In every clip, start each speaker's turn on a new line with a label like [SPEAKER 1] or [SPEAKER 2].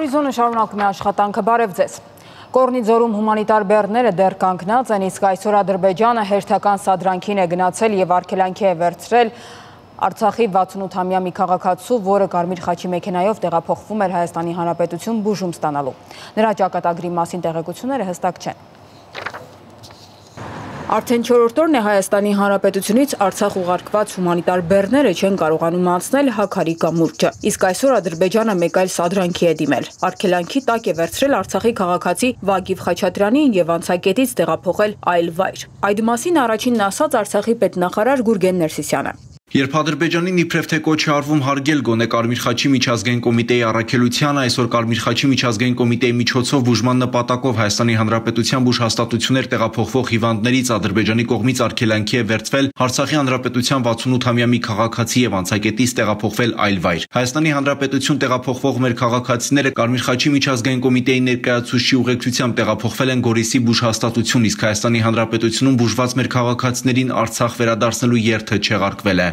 [SPEAKER 1] Հորիզոնը շարունակում է աշխատանքը, բարև ձեզ։ Կորնի ձորում հումանիտար բեռները դեռ կանգնած են, իսկ այսօր Ադրբեջանը հերթական սադրանքին է գնացել եւ արգելանքի է վերցրել Արցախի 68-ամյա մի քաղաքացու, որը Կարմիր խաչի մեքենայով տեղափոխվում էր Հայաստանի Հանրապետություն բուժում ստանալու։ Նրա ճակատագրի մասին տեղեկությունները հստակ չեն։ Արդեն 4-րդ օրն է Հայաստանի Հանրապետությունից Արցախ ուղարկված հումանիտար բեռները չեն կարողանում անցնել Հաքարի կամուրջը։ Իսկ այսօր Ադրբեջանը մեկ այլ սադրանքի է դիմել։ Արգելանքի տակ է վերցրել Արցախի քաղաքացի Վագիվ Խաչատրյանին եւ անցակետից տեղափոխել այլ վայր։ Այդ մասին առաջինն ասաց Արցախի պետնախարար Գուրգեն Ներսիսյանը։
[SPEAKER 2] Երբ Ադրբեջանին իբրև թե կոչ է արվում հարգել գոնե Կարմիր խաչի միջազգային կոմիտեի առաքելությանը, այսօր Կարմիր խաչի միջազգային կոմիտեի միջոցով բուժման նպատակով Հայաստանի Հանրապետության բուժհաստատություններ տեղափոխվող հիվանդներից Ադրբեջանի կողմից արգելանքի է վերցվել Արցախի Հանրապետության 68-ամյա մի քաղաքացի եւ անցակետից տեղափոխվել այլ վայր։ Հայաստանի Հանրապետություն տեղափոխվող մեր քաղաքացիները Կարմիր խաչի միջազգային կոմիտեի ներկայացուցչի ուղեկցությամբ տեղափոխվել են Գորիսի բուժհաստատություն, իսկ Հայաստանի Հանրապետությունում բուժված մեր քաղաքացիներին Արցախ վերադարձնելու երթը չեղարկվել է։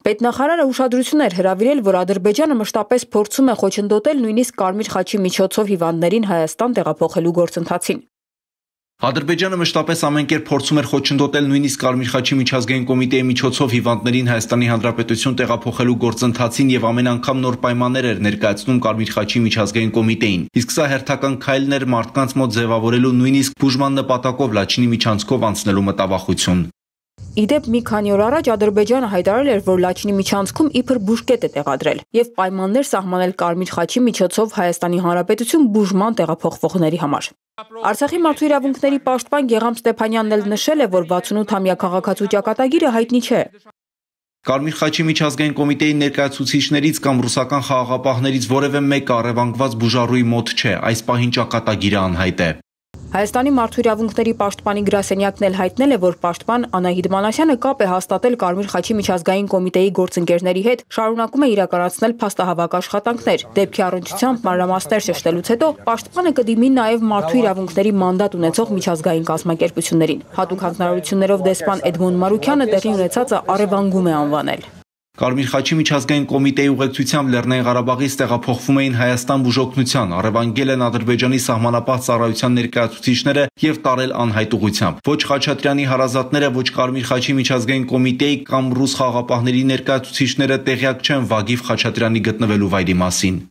[SPEAKER 1] Պետնախարարը ուշադրություն էր հրավիրել, որ Ադրբեջանը մշտապես փորձում է խոչընդոտել նույնիսկ Կարմիր խաչի միջոցով հիվանդներին Հայաստան տեղափոխելու գործընթացին։
[SPEAKER 2] Ադրբեջանը մշտապես ամեն կերպ փորձում էր խոչընդոտել նույնիսկ Կարմիր խաչի միջազգային կոմիտեի միջոցով հիվանդներին Հայաստանի Հանրապետություն տեղափոխելու գործընթացին եւ ամեն անգամ նոր պայմաններ էր ներկայացնում Կարմիր խաչի միջազգային կոմիտեին։ Իսկ սա հերթական քայլն էր մարդկանց մոտ ձևավորելու նույնիսկ բուժման նպատակով Լաչինի միջանցքով անցնելու մտավախություն։
[SPEAKER 1] Իդեպ մի քանի օր առաջ Ադրբեջանը հայտարարել էր, որ Լաչինի միջանցքում իբր բուժկետ է տեղադրել եւ պայմաններ սահմանել Կարմիր խաչի միջոցով Հայաստանի Հանրապետություն բուժման տեղափոխվողների համար։ Արցախի մարդու իրավունքների պաշտպան Գեգամ Ստեփանյանն էլ նշել է, որ 68-ամյա քաղաքացու ճակատագիրը հայտնի չէ։
[SPEAKER 2] Կարմիր խաչի միջազգային կոմիտեի ներկայացուցիչներից կամ ռուսական խաղաղապահներից որևէ մեկը առևանգված բուժառուի մոտ չէ, այս պահին ճակատագիրը անհայտ է։
[SPEAKER 1] Հայաստանի մարդու իրավունքների պաշտպանի գրասենյակն էլ հայտնել է, որ պաշտպան Անահիտ Մանասյանը կապ է հաստատել Կարմիր խաչի միջազգային կոմիտեի գործընկերների հետ, շարունակում է իրականացնել փաստահավաք աշխատանքներ։ Դեպքի առնչությամբ մանրամասներ շեշտելուց հետո պաշտպանը կդիմի նաև մարդու իրավունքների մանդատ ունեցող միջազգային կազմակերպություններին։ Հատուկ հանձնարարություններով դեսպան Էդմոն Մարուքյանը տեղի ունեցածը առևանգում է անվանել։
[SPEAKER 2] Կարմիր խաչի միջազգային կոմիտեի ուղեկցությամբ Լեռնային Ղարաբաղից տեղափոխվում էին Հայաստան բուժօգնության, առևանգել են Ադրբեջանի սահմանապահ ծառայության ներկայացուցիչները եւ տարել անհայտ ուղղությամբ։ Ոչ Խաչատրյանի հարազատները, ոչ Կարմիր խաչի միջազգային կոմիտեի կամ ռուս խաղաղապահների ներկայացուցիչները տեղյակ չեն Վագիվ Խաչատրյանի գտնվելու վայրի մասին։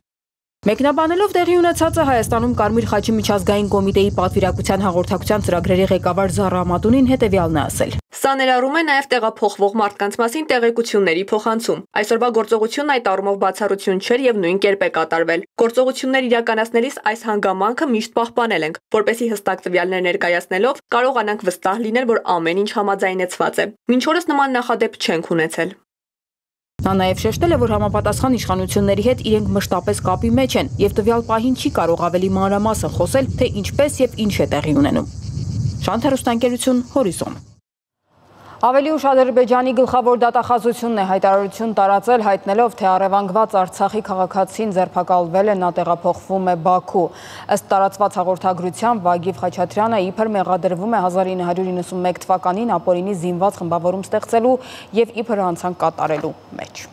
[SPEAKER 1] Մեկնաբանելով տեղի ունեցածը Հայաստանում Կարմիր խաչի միջազգային կոմիտեի պատվիրակության հաղորդակցության ծրագրերի ղեկավար Զառա Ամատունին հետևյալն է ասել.
[SPEAKER 3] Սա ներառում է նաև տեղափոխվող մարդկանց մասին տեղեկությունների փոխանցում։ Այսօրվա գործողությունն այդ առումով բացառություն չէր եւ նույն կերպ է կատարվել։ Գործողություններ իրականացնելիս այս հանգամանքը միշտ պահպանել ենք, որպեսզի հստակ տվյալներ ներկայացնելով կարողանանք վստահ լինել, որ ամեն ինչ համաձայնեցված է։ Մինչ օրս նման նախադեպ չենք ունեցել։
[SPEAKER 1] Նա նաև շեշտել է, որ համապատասխան իշխանությունների հետ իրենք մշտապես կապի մեջ են եւ տվյալ պահին չի կարող ավելի մանրամասն խոսել, թե ինչպես եւ ինչ է տեղի ունենում։ Շանթ հեռուստաընկերություն, Հորիզոն։ Ավելի ուշ Ադրբեջանի գլխավոր դատախազությունն է հայտարարություն տարածել, հայտնելով, թե առևանգված Արցախի քաղաքացին ձերբակալվել է, նա տեղափոխվում է Բաքու։ Ըստ տարածված հաղորդագրության Վագիվ Խաչատրյանը իբր մեղադրվում է 1991 թվականին ապօրինի զինված խմբավորում ստեղծելու եւ իբր հանցանք կատարելու մեջ։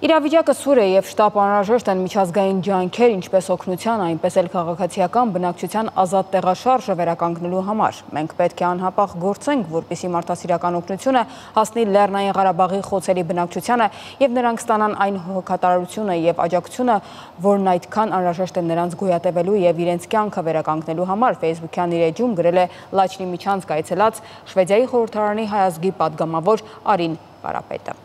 [SPEAKER 1] Իրավիճակը սուր է եւ շտապ անհրաժեշտ են միջազգային ջանքեր, ինչպես օգնության, այնպես էլ քաղաքացիական բնակչության ազատ տեղաշարժը վերականգնելու համար։ Մենք պետք է անհապաղ գործենք, որպեսզի մարդասիրական օգնությունը հասնի Լեռնային Ղարաբաղի խոցելի բնակչությանը եւ նրանք ստանան այն հոգատարությունը եւ աջակցությունը, որն այդքան անհրաժեշտ է նրանց գոյատևելու եւ իրենց կյանքը վերականգնելու համար, Facebook-յան իր էջում գրել է Լաչինի միջանցք այցելած Շվեդիայի խորհրդարանի հայազգի падգամավոր Արին Կարապետը։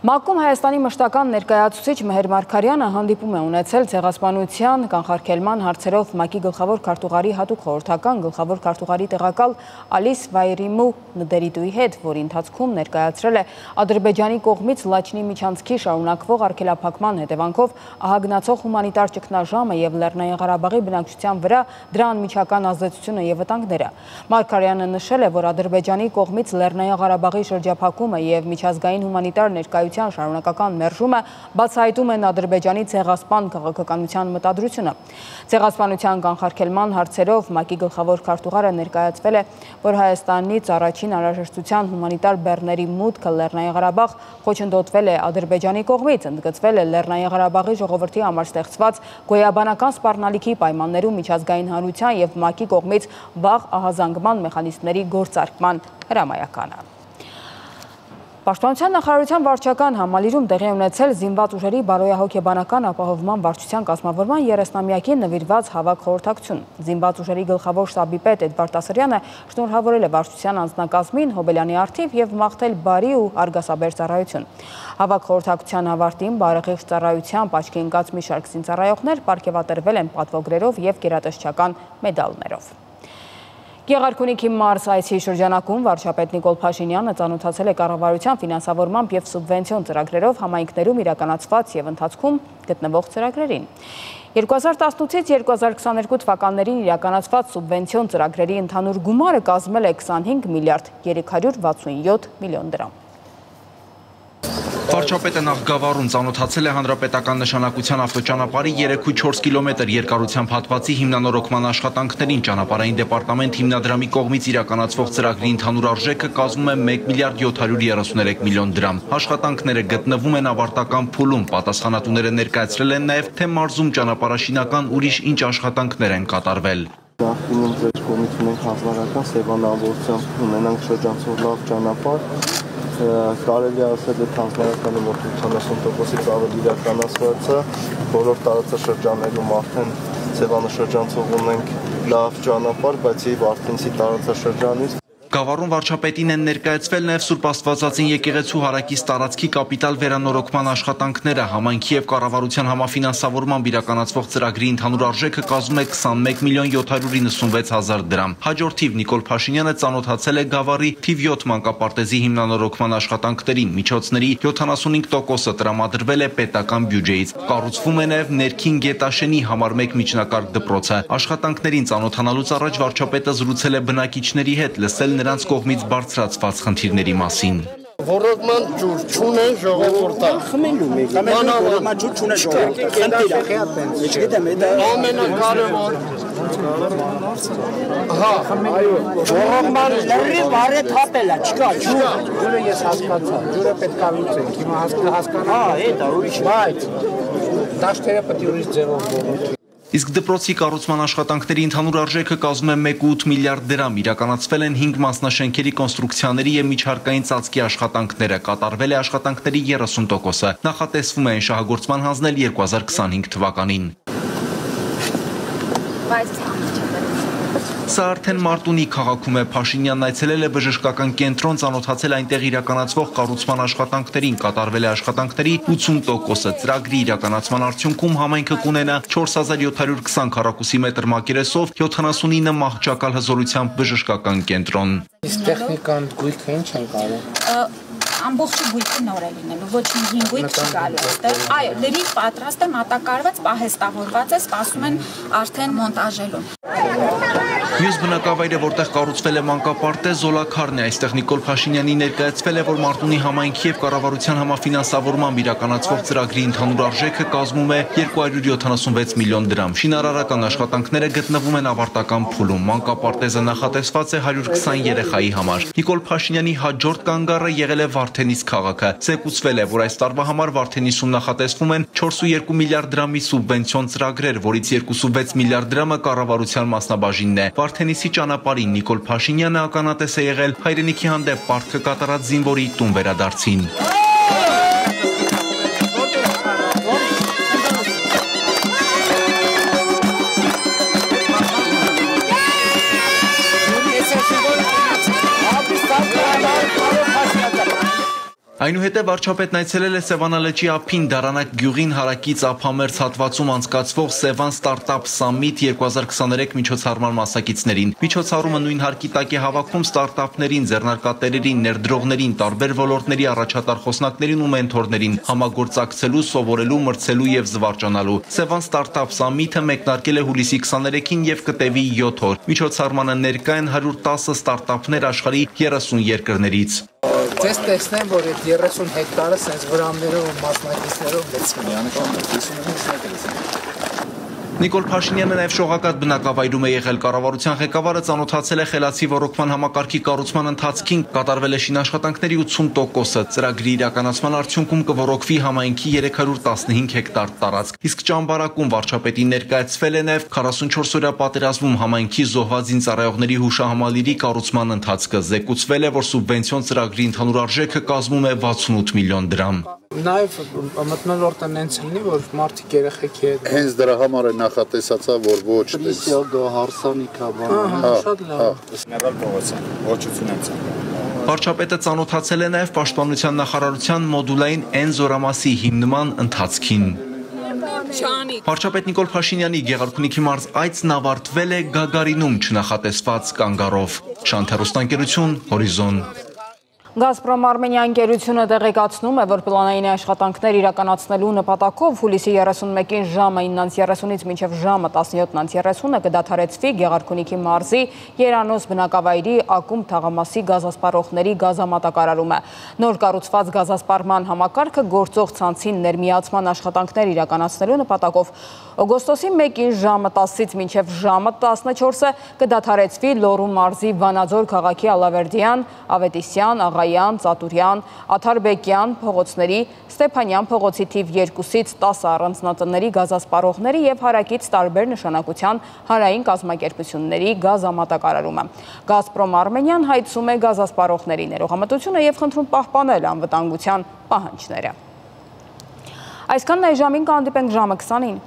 [SPEAKER 1] ՄԱԿ-ում Հայաստանի մշտական ներկայացուցիչ Մեհեր Մարգարյանը հանդիպում է ունեցել ցեղասպանության կանխարգելման հարցերով ՄԱԿ-ի գլխավոր քարտուղարի հատուկ խորհրդական գլխավոր քարտուղարի տեղակալ Ալիս Վայրիմու Նդերիտուի հետ, որի ընթացքում ներկայացրել է Ադրբեջանի կողմից Լաչինի միջանցքի շարունակվող արգելափակման հետևանքով ահագնացող հումանիտար ճգնաժամը եւ Լեռնային Ղարաբաղի բնակչության վրա դրա անմիջական ազդեցությունը եւ վտանգները։ Մարգարյանը նշել է, որ Ադրբեջանի կողմից Լեռնային Ղարաբաղի շրջափակումը եւ միջազգային հումանիտար ներկայությունը կառավարության շարունակական մերժումը բացահայտում են Ադրբեջանի ցեղասպան քաղաքականության մտադրությունը։ Ցեղասպանության կանխարգելման հարցերով ՄԱԿ-ի գլխավոր քարտուղարը ներկայացվել է, որ Հայաստանից առաջին անհրաժեշտության հումանիտար բեռների մուտքը Լեռնային Ղարաբաղ խոչընդոտվել է Ադրբեջանի կողմից, ընդգծվել է Լեռնային Ղարաբաղի ժողովրդի համար ստեղծված գոյաբանական սպառնալիքի պայմաններում միջազգային հանրության և ՄԱԿ-ի կողմից վաղ ահազանգման մեխանիզմների գործարկման հրամայականը։ Պաշտպանության նախարարության վարչական համալիրում տեղի ունեցել զինված ուժերի բարոյահոգեբանական ապահովման վարչության կազմավորման 30-ամյակին նվիրված հավաք խորհրդակցություն։ Զինված ուժերի գլխավոր շտաբի պետ Էդվարդ Ասրյանը շնորհավորել է վարչության անձնակազմին Հոբելյանի առթիվ և մաղթել բարի ու արգասաբեր ծառայություն։ Հավաք խորհրդակցության ավարտին բարեխիղճ ծառայությամբ աչքի ընկած մի շարք զինծառայողներ պարգևատրվել են պատվոգրերով և գերատեսչական մեդալներով։ Գեղարքունիքի մարզ այցի շրջանակում վարչապետ Նիկոլ Փաշինյանը ծանոթացել է կառավարության ֆինանսավորմամբ և սուբվենցիոն ծրագրերով համայնքներում իրականացված և ընթացքում գտնվող ծրագրերին։ 2018-ից 2022 թվականներին իրականացված սուբվենցիոն ծրագրերի ընդհանուր գումարը կազմել է 25 միլիարդ 367 միլիոն դրամ։
[SPEAKER 2] Վարչապետը նախ Գավառում ծանոթացել է հանրապետական նշանակության ավտոճանապարհի 3,4 կիլոմետր երկարությամբ հատվածի հիմնանորոգման աշխատանքներին ճանապարհային դեպարտամենտ հիմնադրամի կողմից իրականացվող ծրագրի ընդհանուր արժեքը կազմում է 1 միլիարդ 733 միլիոն դրամ։ Աշխատանքները գտնվում են ավարտական փուլում, պատասխանատուները ներկայացրել են նաև, թե մարզում ճանապարհաշինական ուրիշ ինչ աշխատանքներ են կատարվել։
[SPEAKER 4] Նախկինում ձեր կողմից ունենք հանրական սեվանավորությամբ ունենանք շրջանցող լավ ճանապարհ, կարելի ասել է հանրականի մոտ 80%-ից ավելի իրականացված է, բոլոր տարածաշրջաններում արդեն սեվանաշրջանցող ունենք լավ ճանապարհ, բայց եւ Արտենցի տարածաշրջանից
[SPEAKER 2] Գավառում վարչապետին են ներկայացվել նաև Սուրբ Աստվածածին եկեղեցու հարակից տարածքի կապիտալ վերանորոգման աշխատանքները, համայնքի և կառավարության համաֆինանսավորմամբ իրականացվող ծրագրի ընդհանուր արժեքը կազմում է 21 միլիոն 796 հազար դրամ։ Հաջորդիվ Նիկոլ Փաշինյանը ծանոթացել է Գավառի թիվ 7 մանկապարտեզի հիմնանորոգման աշխատանքներին, միջոցների 75%-ը տրամադրվել է պետական բյուջեից։ Կառուցվում է նաև ներքին Գետաշենի համար 1 միջնակարգ դպրոցը։ Աշխատանքներին ծանոթանալուց առաջ վարչապետը զրուցել է բնակիչների հետ, լսել նրանց կողմից բարձրացված խնդիրների մասին։
[SPEAKER 5] Ոռոգման ջուր չունեն ժողովուրդը։ Խմելու մեկ։ Մանավանդ ջուր չունեն ժողովուրդը։ Խնդիրը։ Ամենակարևոր։ Հա, ոռոգման լրի բարե թափելա, չկա ջուր։ Ջուրը ես հասկացա։ Ջուրը պետք է լուծենք։ Հիմա հասկանա։ Հա, դա ուրիշ, բայց դաշտերը պետք է ուրիշ ձևով բողոքի։
[SPEAKER 2] Իսկ դպրոցի կառուցման աշխատանքների ընդհանուր արժեքը կազմում է 1,8 միլիարդ դրամ, իրականացվել են 5 մասնաշենքերի կոնստրուկցիաների և միջհարկային ծածկի աշխատանքները, կատարվել է աշխատանքների 30%-ը, նախատեսվում է այն շահագործման հանձնել 2025 թվականին։ Սա արդեն Մարտունի քաղաքում է, Փաշինյանն այցելել է բժշկական կենտրոն, ծանոթացել այնտեղ իրականացվող կառուցման աշխատանքներին, կատարվել է աշխատանքների 80%-ը, ծրագրի իրականացման արդյունքում համայնքը կունենա 4720 քառակուսի մետր մակերեսով 79 մահճակալ հզորությամբ բժշկական կենտրոն։
[SPEAKER 5] Իսկ տեխնիկան գույքը ինչ են կարող։
[SPEAKER 6] Ամբողջը գույքը նոր է լինելու, ոչինչ հին գույք չի գալու այստեղ։ Այո, լրիվ պատրաստ է, մատակարարված, պահեստավորված է, սպասում են արդեն մոնտաժելուն։
[SPEAKER 2] Մյուս բնակավայրը, որտեղ կառուցվել է մանկապարտեզ, Զոլաքարն է, այստեղ Նիկոլ Փաշինյանի ներկայացվել է, որ Մարտունի համայնքի և կառավարության համաֆինանսավորմամբ իրականացվող ծրագրի ընդհանուր արժեքը կազմում է 276 միլիոն դրամ։ Շինարարական աշխատանքները գտնվում են ավարտական փուլում, մանկապարտեզը նախատեսված է 120 երեխայի համար։ Նիկոլ Փաշինյանի հաջորդ կանգառը եղել է Վարդենիս քաղաքը։ Զեկուցվել է, որ այս տարվա համար Վարդենիսում նախատեսվում են 4,2 միլիարդ դրամի սուբվենցիոն ծրագրեր, որից 2,6 միլիարդ դրամը կառավարության մասնաբաժինն է։ Վարդենիսի ճանապարհին Նիկոլ Փաշինյանը ականատես է եղել հայրենիքի հանդեպ պարտքը կատարած զինվորի տուն վերադարձին։ Այնուհետև վարչապետն այցելել է Սևանալճի ափին Դարանակ գյուղին հարակից ափամերձ հատվածում անցկացվող Սևան Ստարտափ Սամիթ 2023 միջոցառման մասնակիցներին։ Միջոցառումը նույն հարկի տակ է հավաքում ստարտափներին, ձեռնարկատերերին, ներդրողներին, տարբեր ոլորտների առաջատար խոսնակներին ու մենթորներին համագործակցելու, սովորելու, մրցելու և զվարճանալու։ Սևան Ստարտափ Սամիթը մեկնարկել է հուլիսի 23-ին և կտևի 7 օր։ Միջոցառմանը ներկա են 110 ստարտափներ աշխարհի 30 երկրներից։
[SPEAKER 5] Ես տեսնեմ, որ այդ 30 հեկտարը սենց վրամներով ու մասնակիցներով լցվում է։
[SPEAKER 2] Նիկոլ Փաշինյանը նաև շողակաթ բնակավայրում է եղել, կառավարության ղեկավարը ծանոթացել է խելացի ռոռոկման համակարգի կառուցման ընթացքին, կատարվել է շինաշխատանքների 80%-ը, ծրագրի իրականացման արդյունքում կոռոկվի համայնքի 315 հեկտար տարածք, իսկ ճամբարակում վարչապետին ներկայացվել է նաև 44-օրյա պատերազմում համայնքի զոհված զինծառայողների հուշահամալիրի կառուցման ընթացքը, զեկուցվել է, որ սուբվենցիոն ծրագրի ընդհանուր արժեքը կազմում է 68 միլիոն դրամ։
[SPEAKER 5] Նաև մթնոլորտը նենց լինի, որ մարդիկ երեխեքի հետ
[SPEAKER 7] հենց դրա համար է նախատեսածա, որ ոչ
[SPEAKER 4] Պրիսիագա հարսանիքա բանը։
[SPEAKER 5] շատ լավ։
[SPEAKER 8] Ներալ փողոցյան, ոչություն են ցանկանում։
[SPEAKER 2] Վարչապետը ծանոթացել է նաև Պաշտպանության նախարարության մոդուլային N զորամասի հիմնման ընթացքին։ Վարչապետ Նիկոլ Փաշինյանի Գեղարքունիքի մարզ այցն ավարտվել է Գագարինում չնախատեսված կանգառով։ Շանթերոստանգերություն, Հորիզոն։
[SPEAKER 1] Գազպրոմ Արմենիա ընկերությունը տեղեկացնում է, որ պլանային աշխատանքներ իրականացնելու նպատակով հուլիսի 31-ին ժամը 9:30-ից մինչև ժամը 17:30-ը կդադարեցվի Գեղարքունիքի մարզի Երանոս բնակավայրի ակումբ թաղամասի գազասպառողների գազամատակարարումը։ Նոր կառուցված գազասպառման համակարգը գործող ցանցին ներմիացման աշխատանքներ իրականացնելու նպատակով օգոստոսի 1-ին ժամը 10-ից մինչև ժամը 14-ը կդադարեցվի Լոռու մարզի Վանաձոր քաղաքի Ալավերդյան, Ավետիսյան, Աղայան, Ծատուրյան, Աթարբեկյան փողոցների, Ստեփանյան փողոցի թիվ 2-ից 10 առանձնատների գազասպառողների եւ հարակից տարբեր նշանակության հանրային կազմակերպությունների գազամատակարարումը։ Գազպրոմ Արմենիան հայցում է գազասպառողների ներողամտությունը եւ խնդրում պահպանել անվտանգության պահանջները։ Այսքանն այս ժամին կհանդիպենք ժամը 20-ին։